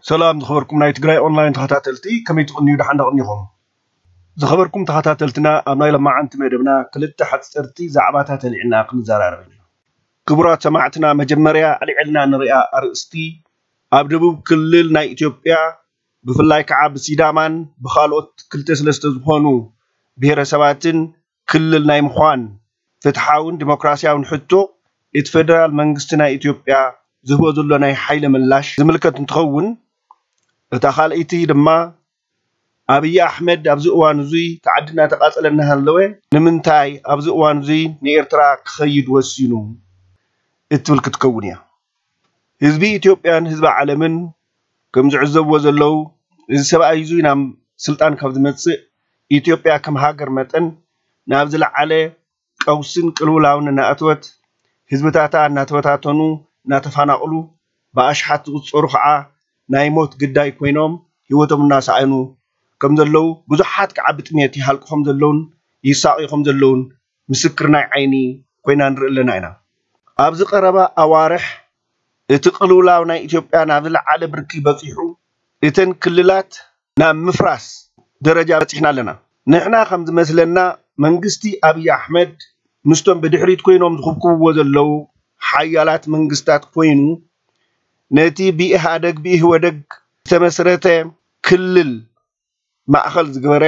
ሰላም ዝኸበርኩም ናይ ትግራይ ኦንላይን ተኸታተልቲ፣ ከመይ ትቕንዩ? ደሓን ዶ ቅኒኹም? ዝኸበርኩም ተኸታተልትና፣ ኣብ ናይ ሎማዓንቲ መደብና ክልተ ሓፀርቲ ዛዕባታት ኣልዒልና ክንዘራረብ ኢና። ክቡራት ሰማዕትና፣ መጀመርያ ኣልዒልና ንሪኣ ኣርእስቲ፣ ኣብ ደቡብ ክልል ናይ ኢትዮጵያ፣ ብፍላይ ከዓ ብሲዳማን ብኻልኦት ክልተ ሰለስተ ዝኾኑ ብሄረሰባትን ክልል ናይ ምዃን ፍትሓውን ዲሞክራሲያውን ሕቶ፣ እቲ ፌደራል መንግስቲ ናይ ኢትዮጵያ ዝህቦ ዘሎ ናይ ሓይሊ ምላሽ ዝምልከት እንትኸውን፣ እታ ካልኣይቲ ድማ፣ ኣብይ ኣሕመድ ኣብዚ እዋን እዙይ እቲ ዓዲ እናተቓፀለ እናሃለወ፣ ንምንታይ ኣብዚ እዋን እዙይ ንኤርትራ ክኸይድ ወሲኑ? እትብል ክትከውን እያ። ህዝቢ ኢትዮጵያን ህዝቢ ዓለምን ከም ዝዕዘብዎ ዘለዉ፣ እዚ ሰብኣይ እዙይ ናብ ስልጣን ካብ ዝመፅእ፣ ኢትዮጵያ ከም ሃገር መጠን ናብ ዝለዓለ ቀውስን ቅልውላውን እናኣተወት፣ ህዝብታታ እናተበታተኑ፣ እናተፋናቕሉ፣ ብኣሽሓት ዝቑፀሩ ከዓ ናይ ሞት ግዳይ ኮይኖም ህይወቶም እናሰኣኑ ከም ዘለዉ፣ ብዙሓት ከዓ ብጥሜት ይሃልቁ ከም ዘለዉን ይሳቕዩ ከም ዘለዉን ምስክር ናይ ዓይኒ ኮይና ንርኢ ኣለና ኢና። ኣብዚ ቀረባ ኣዋርሕ እቲ ቅልውላው ናይ ኢትዮጵያ ናብ ዝለዓለ ብርኪ በፂሑ፣ እተን ክልላት ናብ ምፍራስ ደረጃ በፂሕና ኣለና። ንሕና ከም ዝመስለና፣ መንግስቲ ኣብይ ኣሕመድ ምስቶም ብድሕሪት ኮይኖም ዝኽብክብዎ ዘለዉ ሓያላት መንግስታት ኮይኑ፣ ነቲ ብኢህኣደግ ብኢህወደግ ዝተመስረተ ክልል ማእኸል ዝገበረ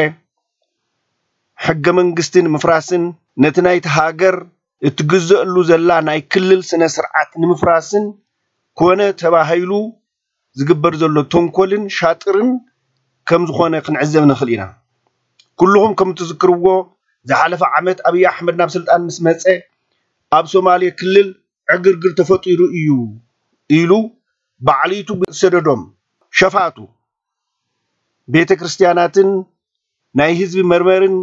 ሕገ መንግስቲ ንምፍራስን ነቲ ናይቲ ሃገር እትግዘአሉ ዘላ ናይ ክልል ስነ ስርዓት ንምፍራስን ኮነ ተባሂሉ ዝግበር ዘሎ ተንኮልን ሻጥርን ከም ዝኾነ ክንዕዘብ ንኽእል ኢና። ኩልኹም ከም እትዝክርዎ፣ ዝሓለፈ ዓመት ኣብይ ኣሕመድ ናብ ስልጣን ምስ መፀ፣ ኣብ ሶማሌ ክልል ዕግርግር ተፈጢሩ እዩ ኢሉ ባዕሊቱ ብዝሰደዶም ሸፋቱ ቤተ ክርስቲያናትን ናይ ህዝቢ መርመርን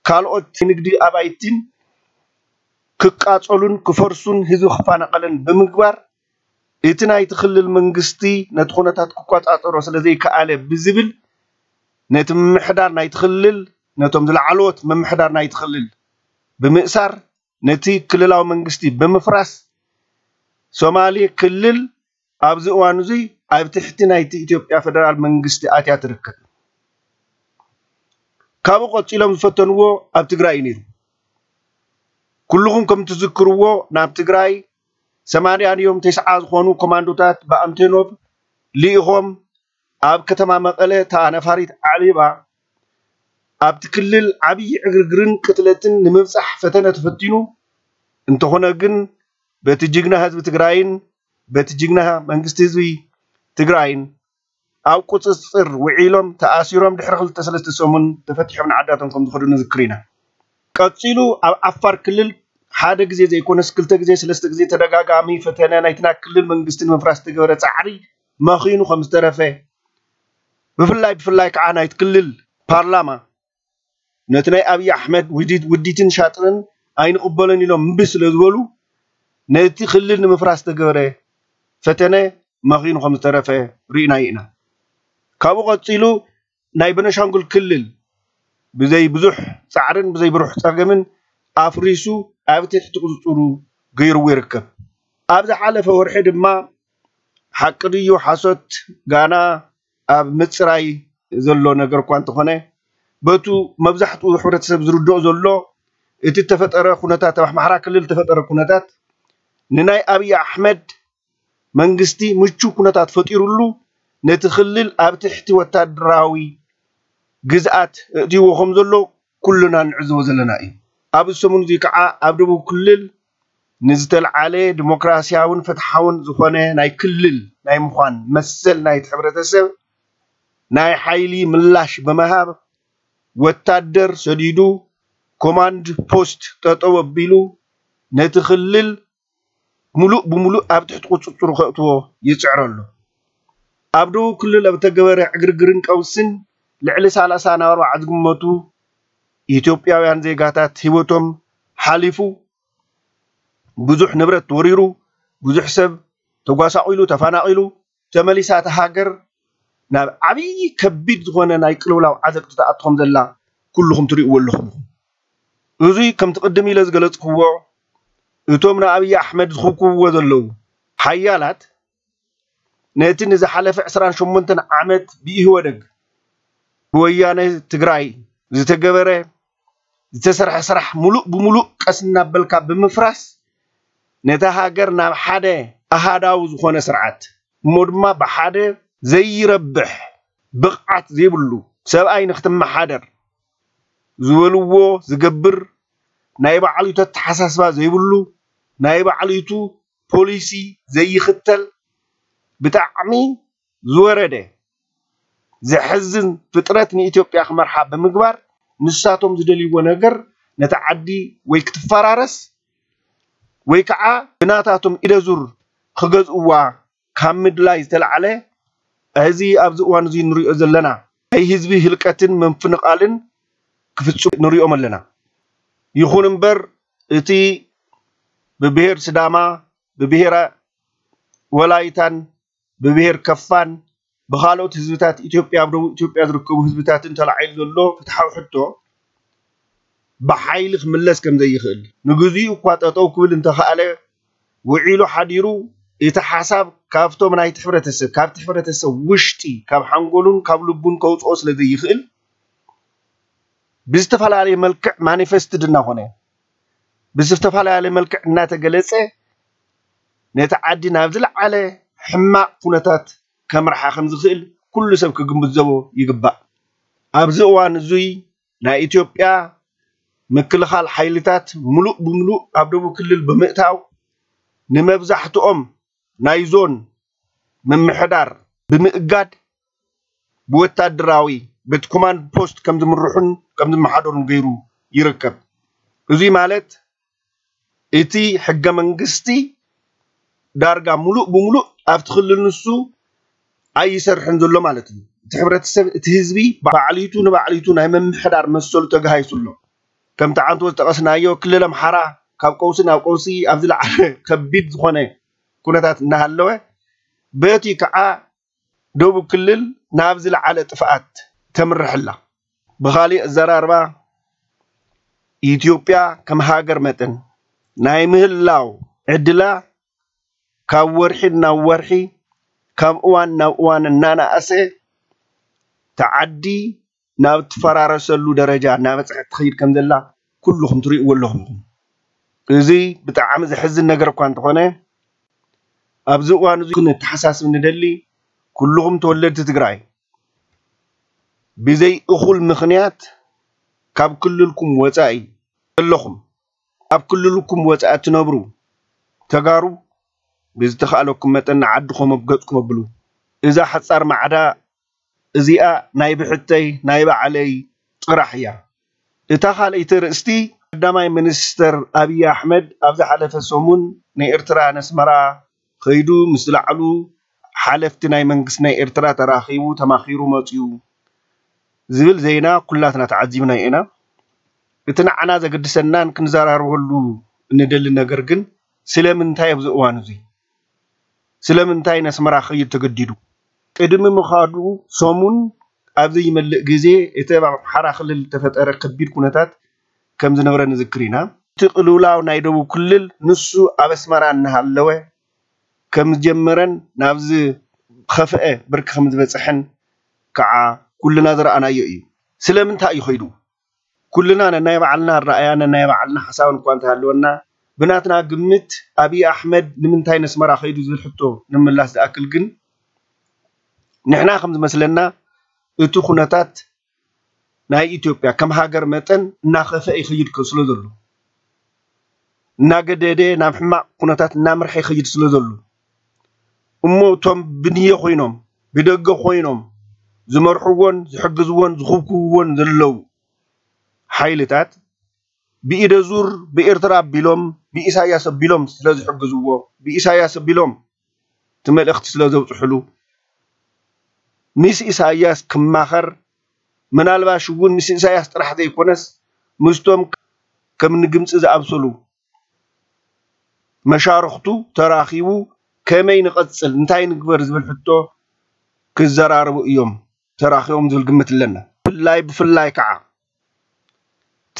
ካልኦት ንግዲ ኣባይትን ክቃጸሉን ክፈርሱን ህዝቢ ክፋናቐልን ብምግባር፣ እቲ ናይቲ ክልል መንግስቲ ነቲ ኩነታት ክቆጻጸሮ ስለ ዘይከኣለ ብዝብል፣ ነቲ ምምሕዳር ናይቲ ክልል፣ ነቶም ዝለዓለዎት ምምሕዳር ናይቲ ክልል ብምእሳር፣ ነቲ ክልላዊ መንግስቲ ብምፍራስ፣ ሶማሌ ክልል ኣብዚ እዋን እዙይ ኣብ ትሕቲ ናይቲ ኢትዮጵያ ፌደራል መንግስቲ ኣትያ ትርከብ። ካብኡ ቀጺሎም ዝፈተንዎ ኣብ ትግራይ እዩ ነይሩ። ኩልኹም ከም ትዝክርዎ፣ ናብ ትግራይ ሰማንያ ድዮም ተስዓ ዝኾኑ ኮማንዶታት ብኣንቶኖቭ ልኢኾም ኣብ ከተማ መቐለ እታ ነፋሪት ዓሊባ ኣብቲ ክልል ዓብዪ ዕግርግርን ቅትለትን ንምብፃሕ ፈተነ ተፈቲኑ። እንተኾነ ግን በቲ ጅግና ህዝቢ ትግራይን በቲ ጅግና መንግስቲ ህዝቢ ትግራይን ኣብ ቁፅፅር ውዒሎም ተኣሲሮም ድሕሪ ክልተ ሰለስተ ሰሙን ተፈቲሖም ንዓዳቶም ከም ዝኸዱ ንዝክር ኢና። ቀፂሉ ኣብ ዓፋር ክልል ሓደ ግዜ ዘይኮነስ ክልተ ግዜ ሰለስተ ግዜ ተደጋጋሚ ፈተነ ናይትና ክልል መንግስቲ ንምፍራስ ዝተገበረ ፃዕሪ መኺኑ ከም ዝተረፈ፣ ብፍላይ ብፍላይ ከዓ ናይቲ ክልል ፓርላማ ነቲ ናይ ኣብይ ኣሕመድ ውዲት ውዲትን ሻጥርን ኣይንቕበሎን ኢሎም እምቢ ስለ ዝበሉ፣ ነቲ ክልል ንምፍራስ ዝተገበረ ፈተነ መኺኑ ከም ዝተረፈ ርኢናዮ ኢና። ካብኡ ቀፂሉ ናይ በነሻንጉል ክልል ብዘይ ብዙሕ ፃዕርን ብዘይ ብሩሕ ፀገምን ኣፍሪሱ ኣብ ትሕቲ ቁፅፅሩ ገይርዎ ይርከብ። ኣብ ዝሓለፈ ወርሒ ድማ፣ ሓቂ ድዩ ሓሶት ጋና ኣብ ምፅራይ ዘሎ ነገር እኳ እንተኾነ፣ በቱ መብዛሕትኡ ሕብረተሰብ ዝርድኦ ዘሎ፣ እቲ ተፈጠረ ኩነታት፣ ኣብ ኣምሓራ ክልል ተፈጠረ ኩነታት ንናይ ኣብይ ኣሕመድ መንግስቲ ምቹ ኩነታት ፈጢሩሉ፣ ነቲ ክልል ኣብ ትሕቲ ወታደራዊ ግዝኣት እእትይዎ ከም ዘሎ ኩልና ንዕዘቦ ዘለና እዩ። ኣብ ሰሙን እዚ ከዓ ኣብ ደቡብ ክልል ንዝተልዓለ ዲሞክራሲያውን ፍትሓውን ዝኾነ ናይ ክልል ናይ ምዃን መሰል ናይቲ ሕብረተሰብ ናይ ሓይሊ ምላሽ ብምሃብ፣ ወታደር ሰዲዱ፣ ኮማንድ ፖስት ጠጠው ኣቢሉ፣ ነቲ ክልል ሙሉእ ብሙሉእ ኣብ ትሕቲ ቁፅፅሩ ከእትዎ ይፅዕር ኣሎ። ኣብ ደቡብ ክልል ኣብ ተገበረ ዕግርግርን ቀውስን ልዕሊ ሰላሳ ናብ ኣርባዓ ዝግመቱ ኢትዮጵያውያን ዜጋታት ህይወቶም ሓሊፉ፣ ብዙሕ ንብረት ወሪሩ፣ ብዙሕ ሰብ ተጓሳቒሉ፣ ተፋናቒሉ፣ ተመሊሳ እታ ሃገር ናብ ዓብዪ ከቢድ ዝኾነ ናይ ቅልውላው ዓዘቅቲ ትኣቱ ከም ዘላ ኩልኹም ትርእይዎ ኣለኹም። እዙይ ከምቲ ቅድም ኢለ ዝገለፅክዎ፣ እቶም ንኣብይ ኣሕመድ ዝኽብክብዎ ዘለዉ ሓያላት ነቲ ንዝሓለፈ ዕስራን ሸሞንተን ዓመት ብኢህወደግ ብወያነ ትግራይ ዝተገበረ ዝተሰርሐ ስራሕ ሙሉእ ብሙሉእ ቀስ እናበልካ ብምፍራስ ነታ ሃገር ናብ ሓደ ኣሃዳዊ ዝኾነ ስርዓት እሞ ድማ ብሓደ ዘይረብሕ ብቕዓት ዘይብሉ ሰብኣይ ንክትመሓደር ዝበልዎ ዝገብር ናይ ባዕሊቱ ኣተሓሳስባ ዘይብሉ ናይ ባዕሊቱ ፖሊሲ ዘይኽተል ብጣዕሚ ዝወረደ ዘሕዝን ፍጥረት ንኢትዮጵያ ክመርሓ ብምግባር ንሳቶም ዝደልይዎ ነገር ነታ ዓዲ ወይ ክትፈራረስ ወይ ከዓ ብናታቶም ኢደዙር ክገዝእዋ ካብ ምድላይ ዝተላዕለ እዚ ኣብዚ እዋን እዚ ንሪኦ ዘለና ናይ ህዝቢ ህልቀትን ምፍንቓልን ክፍፅሙ ንሪኦም ኣለና። ይኹን እምበር እቲ ብብሄር ስዳማ ብብሄር ወላይታን ብብሄር ከፋን ብኻልኦት ህዝብታት ኢትዮጵያ ኣብ ደቡብ ኢትዮጵያ ዝርከቡ ህዝብታትን ተላዒሉ ዘሎ ፍትሓዊ ሕቶ ብሓይሊ ክምለስ ከም ዘይኽእል ንግዚኡ እኳ ጠጠው ክብል እንተኸኣለ ውዒሉ ሓዲሩ እቲ ሓሳብ ካብቶም ናይቲ ሕብረተሰብ ካብቲ ሕብረተሰብ ውሽጢ ካብ ሓንጎሉን ካብ ልቡን ከውፅኦ ስለ ዘይኽእል ብዝተፈላለየ መልክዕ ማኒፌስትድ እናኾነ ብዝተፈላለየ መልክዕ እናተገለፀ ነቲ ዓዲ ናብ ዝለዓለ ሕማቕ ኩነታት ከምርሓ ከም ዝኽእል ኩሉ ሰብ ክግንዘቦ ይግባእ። ኣብዚ እዋን እዙይ ናይ ኢትዮጵያ ምክልኻል ሓይልታት ሙሉእ ብሙሉእ ኣብ ደቡብ ክልል ብምእታው ንመብዛሕትኦም ናይ ዞን ምምሕዳር ብምእጋድ ብወታደራዊ በቲ ኮማንድ ፖስት ከም ዝምርሑን ከም ዝመሓደሩን ገይሩ ይርከብ። እዙይ ማለት እቲ ሕገ መንግስቲ ዳርጋ ሙሉእ ብሙሉእ ኣብቲ ክልል ንሱ ኣይሰርሕን ዘሎ ማለት እዩ። እቲ ሕብረተሰብ እቲ ህዝቢ ባዕሊቱ ንባዕሊቱ ናይ ምምሕዳር መሰሉ ተጋሂሱ ኣሎ። ከምቲ ዓንቶ ዝጠቐስናዮ ክልል ኣምሓራ ካብ ቀውሲ ናብ ቀውሲ ኣብ ዝለዓለ ከቢድ ዝኾነ ኩነታት እናሃለወ በቲ ከዓ ደቡብ ክልል ናብ ዝለዓለ ጥፍኣት ተምርሕ ኣላ። ብኻሊእ ኣዘራርባ ኢትዮጵያ ከም ሃገር መጠን ናይ ምህላው ዕድላ ካብ ወርሒ ናብ ወርሒ ካብ እዋን ናብ እዋን እናነኣሰ ተዓዲ ናብ ትፈራረሰሉ ደረጃ እናበፅሐት ትኸይድ ከም ዘላ ኩልኹም ትሪእዎ ኣለኹም ኢኹም። እዚ ብጣዕሚ ዘሕዝን ነገር እኳ እንተኾነ ኣብዚ እዋን እዚ ክንተሓሳስብ ንደሊ ኩልኹም ተወለድቲ ትግራይ ብዘይ እኹል ምኽንያት ካብ ክልልኩም ወፃኢ ዘለኹም ኣብ ክልልኩም ወፃኢ ትነብሩ ተጋሩ ብዝተኻእለኩም መጠን ንዓድኹም ኣብ ገፅኩም ኣብሉ። እዛ ሓፃር ማዕዳ እዚኣ ናይ ብሕተይ ናይ ባዕለይ ጥራሕ እያ። እታ ካልኣይቲ ርእስቲ ቀዳማይ ሚኒስተር ኣብይ ኣሕመድ ኣብ ዝሓለፈ ሰሙን ንኤርትራ ነስመራ ከይዱ ምስ ዝለዓሉ ሓለፍቲ ናይ መንግስቲ ናይ ኤርትራ ተራኺቡ ተማኺሩ መፅዩ ዝብል ዜና ኩላትና ተዓዚብናዮ ኢና። እቲ ንዓና ዘገድሰናን ክንዘራረበሉ እንደሊ ነገር ግን ስለምንታይ ኣብዚ እዋን እዚ ስለምንታይ ነስመራ ክኸይድ ተገዲዱ? ቅድሚ ምኻዱ ሰሙን ኣብ ዘይመልእ ግዜ እቲ ኣብ ኣምሓራ ክልል ዝተፈጠረ ከቢድ ኩነታት ከም ዝነበረ ንዝክር ኢና። እቲ ቅልውላው ናይ ደቡብ ክልል ንሱ ኣብ ኣስመራ እናሃለወ ከም ዝጀመረን ናብ ዝኸፍአ ብርኪ ከም ዝበፅሐን ከዓ ኩልና ዝረኣናዮ እዩ። ስለምንታይ እዩ ኸይዱ? ኩልና ነናይ ባዕልና ኣረኣያ ነናይ ባዕልና ሓሳብን እኳ እንተሃለወና ብናትና ግምት ኣብይ ኣሕመድ ንምንታይ ነስመራ ኸይዱ ዝብል ሕቶ ንምላስ ዝኣክል ግን ንሕና ከም ዝመስለና እቲ ኩነታት ናይ ኢትዮጵያ ከም ሃገር መጠን እናኸፈ ይኸይድ ስለ ዘሎ እናገደደ ናብ ሕማቕ ኩነታት እናምርሐ ይኸይድ ስለ ዘሎ እሞ እቶም ብንየ ኮይኖም ብደገ ኮይኖም ዝመርሕዎን ዝሕግዝዎን ዝኽብክብዎን ዘለዉ ሓይልታት ብኢደ ዙር ብኤርትራ ኣቢሎም ብኢሳያስ ኣቢሎም ስለ ዝሕግዝዎ ብኢሳያስ ኣቢሎም እቲ መልእኽቲ ስለ ዘብፅሕሉ ምስ ኢሳያስ ክማኸር ምናልባሽ እውን ምስ ኢሳያስ ጥራሕ ዘይኮነስ ምስቶም ከም ንግምፂ ዝኣምሰሉ መሻርኽቱ ተራኺቡ ከመይ ንቐፅል እንታይ ንግበር ዝብል ሕቶ ክዘራረቡ እዮም ተራኺቦም ዝብል ግምት ኣለና። ብፍላይ ብፍላይ ከዓ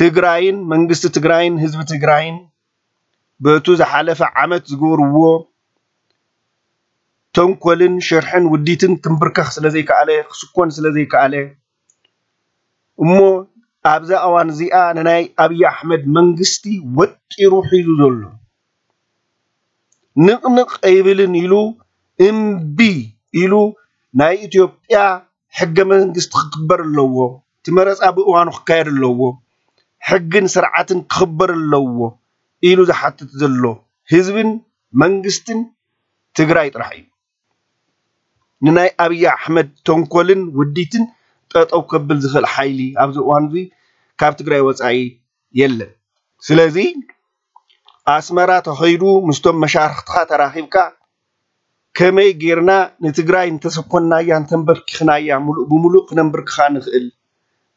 ትግራይን መንግስቲ ትግራይን ህዝቢ ትግራይን በቱ ዝሓለፈ ዓመት ዝገበርዎ ተንኮልን ሽርሕን ውዲትን ክምብርከኽ ስለ ዘይከኣለ፣ ክስኮን ስለ ዘይከኣለ፣ እሞ ኣብዛ እዋን እዚኣ ንናይ ኣብይ ኣሕመድ መንግስቲ ወጢሩ ሒዙ ዘሎ፣ ንቕንቕ ኣይብልን ኢሉ፣ እምቢ ኢሉ፣ ናይ ኢትዮጵያ ሕገ መንግስቲ ክክበር ኣለዎ፣ እቲ መረፃ ብእዋኑ ክካየድ ኣለዎ፣ ሕግን ስርዓትን ክኽበር ኣለዎ ኢሉ ዝሓትት ዘሎ ህዝብን መንግስትን ትግራይ ጥራሕ እዩ። ንናይ ኣብይ ኣሕመድ ተንኮልን ውዲትን ጠጠው ከብል ዝኽእል ሓይሊ ኣብዚ እዋን እዚ ካብ ትግራይ ወፃኢ የለን። ስለዚ ኣስመራ ተኸይዱ ምስቶም መሻርኽትኻ ተራኺብካ ከመይ ጌርና ንትግራይ እንተሰኮንናያ እንተንበርኪኽናያ ሙሉእ ብሙሉእ ክነንብርክኻ ንኽእል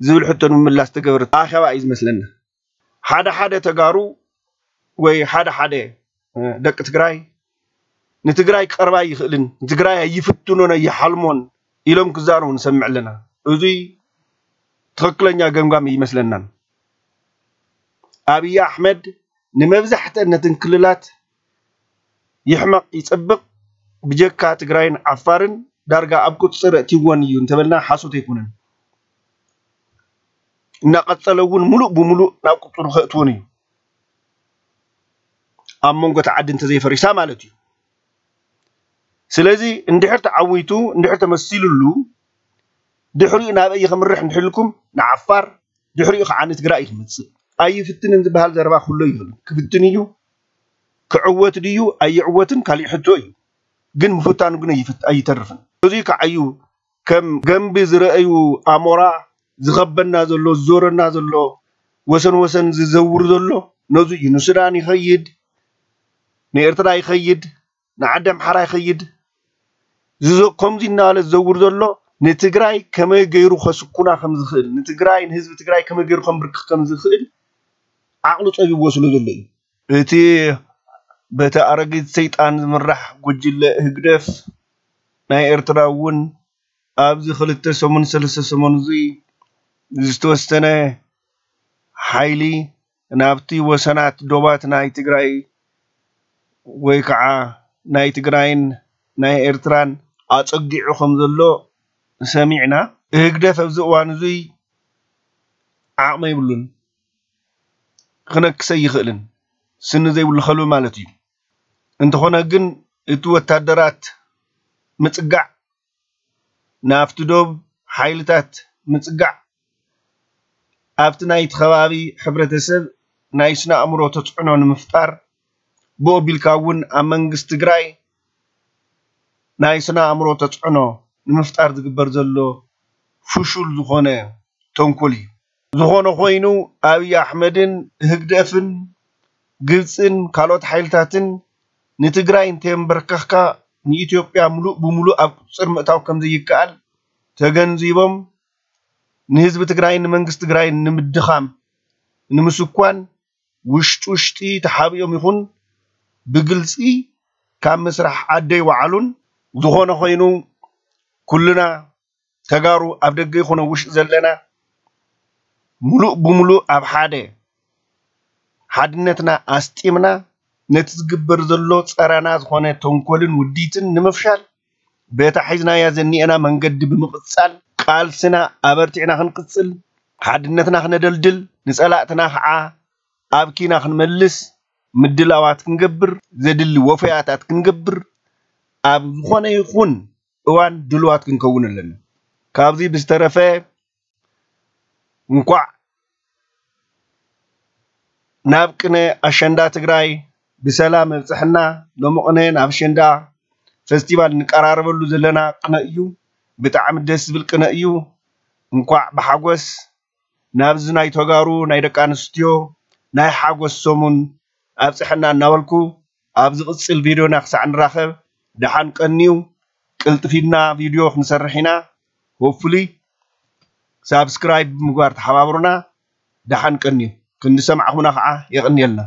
ዝብል ሕቶ ንምምላስ ተገበረ ኣኼባ እዩ ዝመስለና። ሓደ ሓደ ተጋሩ ወይ ሓደ ሓደ ደቂ ትግራይ ንትግራይ ክቐርባ ይኽእልን ንትግራይ ኣይፍትኖን ኣይሓልሞን ኢሎም ክዛረቡ ንሰምዕ ኣለና። እዙይ ትኽክለኛ ገምጋም ይመስለናን። ኣብይ ኣሕመድ ንመብዛሕትአን ነትን ክልላት ይሕመቕ ይፅብቕ፣ ብጀካ ትግራይን ዓፋርን ዳርጋ ኣብ ቁፅፅር ኣእትይወን እዩ እንተበልና ሓሶት ኣይኮነን። እናቐፀለ እውን ሙሉእ ብሙሉእ ናብ ቁፅሩ ከእትወን እዩ፣ ኣብ መንጎ እቲ ዓዲ እንተዘይፈሪሳ ማለት እዩ። ስለዚ እንድሕር ተዓዊቱ እንድሕር ተመሲሉሉ ድሕሪኡ ናበይ ከምርሕ እንድሕልኩም ንዓፋር ድሕሪኡ ከዓ ንትግራይ እዩ ክምፅእ። ኣይፍትንን ዝበሃል ዘረባ ክህሉ ይኽእል። ክፍትን እዩ። ክዕወት ድዩ ኣይዕወትን ካሊእ ሕቶ እዩ። ግን ምፍታኑ ግን ኣይፍት- ኣይተርፍን። እዚ ከዓ እዩ ከም ገንቢ ዝረአዩ ኣሞራ ዝኸበና ዘሎ ዝዞረና ዘሎ ወሰን ወሰን ዝዘውር ዘሎ ነዙ እዩ። ንሱዳን ይኸይድ፣ ንኤርትራ ይኸይድ፣ ንዓዲ ኣምሓራ ይኸይድ። ዝዞ- ከምዚ እናበለ ዝዘውር ዘሎ ንትግራይ ከመይ ገይሩ ከስኩና ከም ዝኽእል፣ ንትግራይ ንህዝቢ ትግራይ ከመይ ገይሩ ከንብርክኽ ከም ዝኽእል ዓቕሉ ፀቢብዎ ስለ ዘሎ እዩ። እቲ በቲ ኣረጊት ሰይጣን ዝምራሕ ጉጅለ ህግደፍ ናይ ኤርትራ እውን ኣብዚ ክልተ ሰሙን ሰለስተ ሰሙን እዚ ዝተወሰነ ሓይሊ ናብቲ ወሰናት ዶባት ናይ ትግራይ ወይ ከዓ ናይ ትግራይን ናይ ኤርትራን ኣፀጊዑ ከም ዘሎ ሰሚዕና። ህግደፍ ኣብዚ እዋን እዙይ ዓቕሚ የብሉን፣ ክነክሰ ይኽእልን፣ ስኒ ዘይብሉ ከልቢ ማለት እዩ። እንተኾነ ግን እቲ ወታደራት ምፅጋዕ፣ ናብቲ ዶብ ሓይልታት ምፅጋዕ፣ ኣብቲ ናይቲ ከባቢ ሕብረተሰብ ናይ ስነ ኣእምሮ ተፅዕኖ ንምፍጣር፣ ብኡ ኣቢልካ እውን ኣብ መንግስቲ ትግራይ ናይ ስነ ኣእምሮ ተፅዕኖ ንምፍጣር ዝግበር ዘሎ ፍሹል ዝኾነ ተንኮል እዩ። ዝኾነ ኮይኑ ኣብይ ኣሕመድን ህግደፍን ግብፅን ካልኦት ሓይልታትን ንትግራይ እንተየንበርከኽካ ንኢትዮጵያ ሙሉእ ብሙሉእ ኣብ ቁፅፅር ምእታው ከም ዘይከኣል ተገንዚቦም ንህዝቢ ትግራይን ንመንግስቲ ትግራይን ንምድኻም ንምስኳን ውሽጢ ውሽጢ ተሓቢኦም ይኹን ብግልፂ ካብ መስራሕ ዓደይ ወዓሉን። ዝኾነ ኮይኑ ኩልና ተጋሩ ኣብ ደገ ይኹን ኣብ ውሽጢ ዘለና ሙሉእ ብሙሉእ ኣብ ሓደ ሓድነትና ኣስጢምና ነቲ ዝግበር ዘሎ ፀረና ዝኾነ ተንኮልን ውዲትን ንምፍሻል በታ ሒዝናያ ዘኒኤና መንገዲ ብምቕፃል ቃልስና ኣበርቲዕና ክንቅፅል፣ ሓድነትና ክነደልድል፣ ንፀላእትና ከዓ ኣብ ኪና ክንመልስ ምድላዋት ክንገብር፣ ዘድሊ ወፈያታት ክንገብር ኣብ ዝኾነ ይኹን እዋን ድልዋት ክንከውን ኣለና። ካብዚ ብዝተረፈ እንኳዕ ናብ ቅነ ኣሸንዳ ትግራይ ብሰላም ኣብፅሐና። ሎሚ ቅነ ናብ ኣሸንዳ ፈስቲቫል እንቀራረበሉ ዘለና ቅነ እዩ። ብጣዕሚ ደስ ዝብል ቅነ እዩ። እንኳዕ ብሓጎስ ናብዚ ናይ ተጋሩ ናይ ደቂ ኣንስትዮ ናይ ሓጎስ ሰሙን ኣብፅሐና እናበልኩ ኣብ ዝቕፅል ቪድዮና ክሳዕ ንራኸብ ደሓን ቀንዩ። ቅልጥፊና ቪድዮ ክንሰርሕ ኢና። ሆፕፉሊ ሳብስክራይብ ብምግባር ተሓባብሩና። ደሓን ቀንዩ። ክንዲ ሰማዕኹምና ከዓ የቐንየልና።